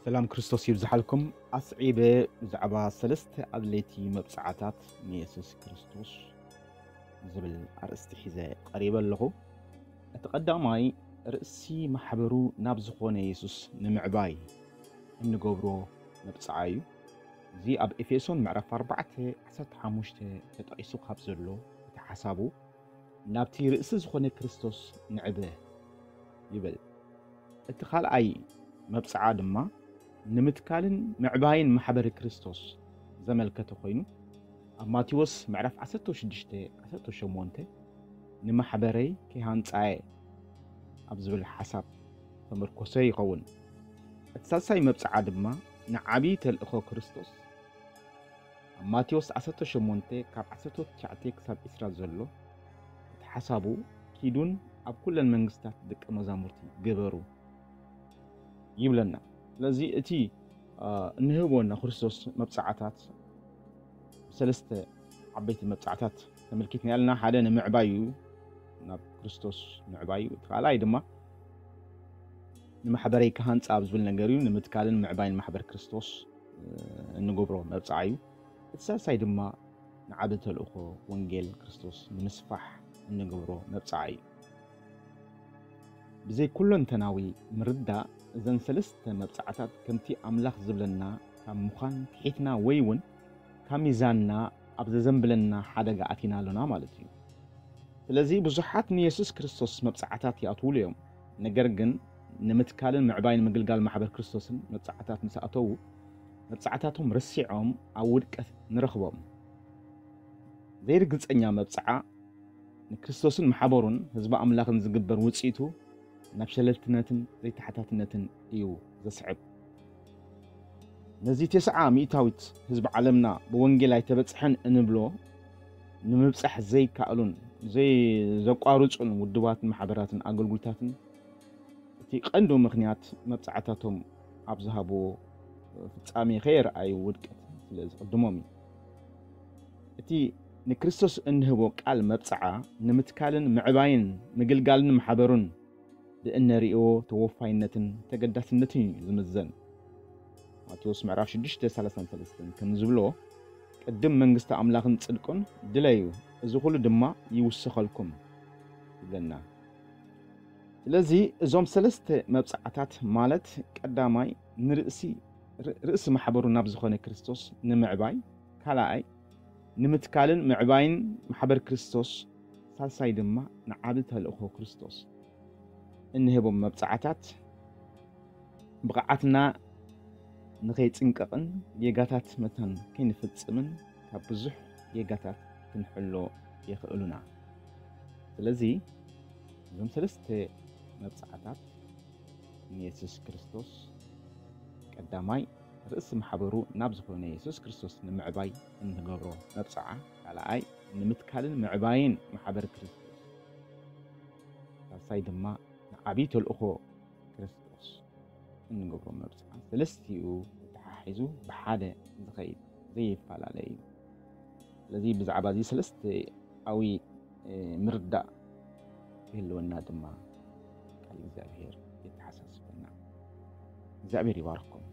ሰላም ክርስቶስ ይብዝሓልኩም። ኣስዒበ ብዛዕባ ሰለስተ ኣድለይቲ መብጽዓታት ንየሱስ ክርስቶስ ዝብል ኣርእስቲ ሒዘ ቀሪበ ኣለኹ። እቲ ቀዳማይ፣ ርእሲ ማሕበሩ ናብ ዝኾነ የሱስ ንምዕባይ እንገብሮ መብጽዓ እዩ። እዚ ኣብ ኤፌሶን ምዕራፍ ኣርባዕተ ዓሰርተ ሓሙሽተ ተጠቒሱ ካብ ዘሎ እቲ ሓሳቡ፣ ናብቲ ርእሲ ዝኾነ ክርስቶስ ንዕበ ይብል። እቲ ካልኣይ መብጽዓ ድማ ንምትካልን ምዕባይን ማሕበረ ክርስቶስ ዘመልከተ ኮይኑ፣ ኣብ ማቴዎስ ምዕራፍ ዓሰርተ ሽዱሽተ ዓሰርተ ሸሞንተ ንማሕበረይ ከይሃንጻየ ኣብ ዝብል ሓሳብ ተመርኮሰ ይኸውን። እቲ ሳልሳይ መብጽዓ ድማ ንዓቢ ተልእኾ ክርስቶስ ኣብ ማቴዎስ ዓሰርተ ሸሞንተ ካብ ዓሰርተ ትሽዓተ ክሳብ ዕስራ ዘሎ እቲ ሓሳቡ፣ ኪዱን ኣብ ኩለን መንግስታት ደቀ መዛሙርቲ ግበሩ ይብለና። ስለዚ እቲ አ፣ እንህቦ ናይ ክርስቶስ መብጽዓታት ብሰለስተ ዓበይቲ መብጽዓታት ተመልኪትና ያልና። ሓደ ንምዕባይ እዩ፣ ናብ ክርስቶስ ምዕባይ እዩ። እቲ ካልኣይ ድማ ንማሕበረይ ክሃንጻ ኣብ ዝብል ነገር እዩ፣ ንምትካልን ምዕባይን ማሕበር ክርስቶስ እ፣ እንገብሮ መብጽዓ እዩ። እቲ ሳልሳይ ድማ ንዓቢ ተልእኾ ወንጌል ክርስቶስ ንምስፋሕ እንገብሮ መብጽዓ እዩ። ብዘይ ኩለንተናዊ ምርዳእ እዘን ሰለስተ መብጽዓታት ከምቲ ኣምላኽ ዝብለና ካብ ምዃን ትሒትና ወይ እውን ካብ ሚዛንና ኣብ ዘዘንብለና ሓደጋ ኣቲና ኣሎና ማለት እዩ። ስለዚ ብዙሓት ንየሱስ ክርስቶስ መብጽዓታት ይኣትዉሉ እዮም። ነገር ግን ንምትካልን ምዕባይን ምግልጋል ማሕበር ክርስቶስን መብጽዓታት ምስ ኣተዉ፣ መብጽዓታቶም ረሲዖም ኣብ ውድቀት ንረኽቦም። ዘይርግጸኛ መብጽዓ ንክርስቶስን ማሕበሩን ህዝቢ ኣምላኽን ዝግበር ውጽኢቱ ናብ ሸለልትነትን ዘይተሓታትነትን እዩ ዘስዕብ። ነዚ ተስዓ ሚእታዊት ህዝቢ ዓለምና ብወንጌል ኣይተበጽሐን እንብሎ ንምብጻሕ ዘይከኣሉን ዘይ-፣ ዘቋርጹን ውድባትን ማሕበራትን ኣገልግሎታትን እቲ ቀንዲ ምኽንያት መብጽዓታቶም ኣብ ዝሃብዎ ፍጻሜ ከየርኣዩ ውድቀት ስለ ዝቕድሞም እዩ። እቲ ንክርስቶስ እንህቦ ቃል መብጽዓ ንምትካልን ምዕባይን ምግልጋልን ማሕበሩን ብእነርእዮ ተወፋይነትን ተገዳስነትን እዩ ዝምዘን። ማቴዎስ ምዕራፍ ሽዱሽተ ሰላሳን ሰለስተን ከም ዝብሎ፣ "ቅድም መንግስቲ ኣምላኽን ጽድቁን ድለዩ፣ እዚ ኩሉ ድማ ይውሰኸልኩም" ይብለና። ስለዚ እዞም ሰለስተ መብጽዓታት ማለት ቀዳማይ ንርእሲ፣ ር-፣ ርእሲ ማሕበሩ ናብ ዝኾነ ክርስቶስ ንምዕባይ፣ ካልኣይ ንምትካልን ምዕባይን ማሕበር ክርስቶስ፣ ሳልሳይ ድማ ንዓቢ ተልእኾ ክርስቶስ እንህቦም መብጽዓታት ብቕዓትና ንኸይጽንቀቕን ጌጋታት መታን ከይንፍጽምን ካብ ብዙሕ ጌጋታት ክንሕሎ የኽእሉና። ስለዚ እዞም ሰለስተ መብጽዓታት ንየሱስ ክርስቶስ ቀዳማይ ርእሲ ማሕበሩ ናብ ዝኾነ የሱስ ክርስቶስ ንምዕባይ እንገብሮ መብጽዓ፣ ካልኣይ ንምትካልን ምዕባይን ማሕበር ክርስቶስ፣ ሳልሳይ ድማ ንዓብዪ ተልእኾ ክርስቶስ እንገብሮ መብጽዓ፣ ሰለስቲኡ ተተሓሒዙ ብሓደ ዝኸይድ ዘይፈላለ እዩ። ስለዚ ብዛዕባ እዚ ሰለስቲኣዊ፣ እ፣ ምርዳእ ክህልወና ድማ ቃል እግዚኣብሔር የተሓሳስበና። እግዚኣብሔር ይባርኽኩም።